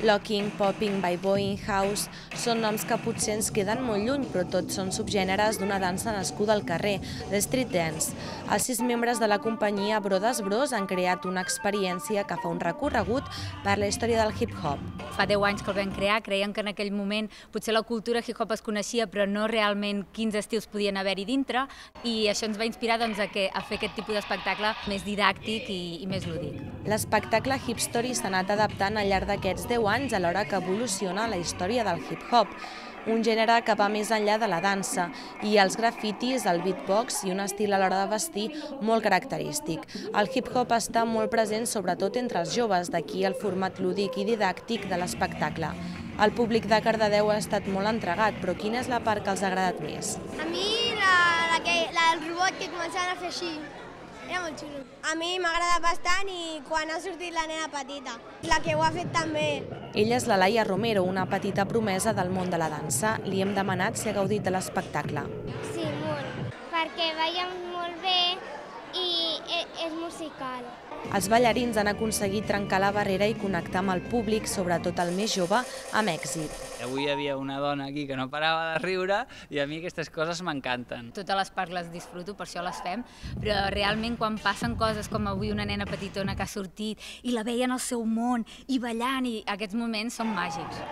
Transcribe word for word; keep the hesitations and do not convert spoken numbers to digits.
Locking, popping, boyboying, house són noms que potser ens queden molt lluny, però tots són subgèneres d'una dansa nascuda al carrer, l'street dance. Els sis membres de la companyia Brothers Bros han creat una experiència que fa un recorregut per la història del hip-hop. Fa deu anys que el vam crear, creiem que en aquell moment potser la cultura hip-hop es coneixia, però no realment quins estils podien haver-hi dintre, i això ens va inspirar doncs, a, que, a fer aquest tipus d'espectacle més didàctic i, i més lúdic. L'espectacle Hip Story s'ha anat adaptant al llarg d'aquests deu anys alhora que evoluciona la història del hip-hop, un gènere que va més enllà de la dansa, i els grafitis, el beatbox i un estil a l'hora de vestir molt característic. El hip-hop està molt present sobretot entre els joves, d'aquí el format lúdic i didàctic de l'espectacle. El públic de Cardedeu ha estat molt entregat, però quina és la part que els ha agradat més? A mi la, la, que, la del robot que començaven a fer així. Era molt xulo. A mi m'ha agradat bastant i quan ha sortit la nena petita, la que ho ha fet també. Ella és la Laia Romero, una petita promesa del món de la dansa. Li hem demanat si ha gaudit de l'espectacle. Sí, molt, perquè ballen molt bé i és musical. Els ballarins han aconseguit trencar la barrera i connectar amb el públic, sobretot el més jove, amb èxit. Avui hi havia una dona aquí que no parava de riure i a mi aquestes coses m'encanten. Totes les parts les disfruto, per això les fem, però realment quan passen coses com avui una nena petitona que ha sortit i la veien al seu món i ballant, i aquests moments són màgics.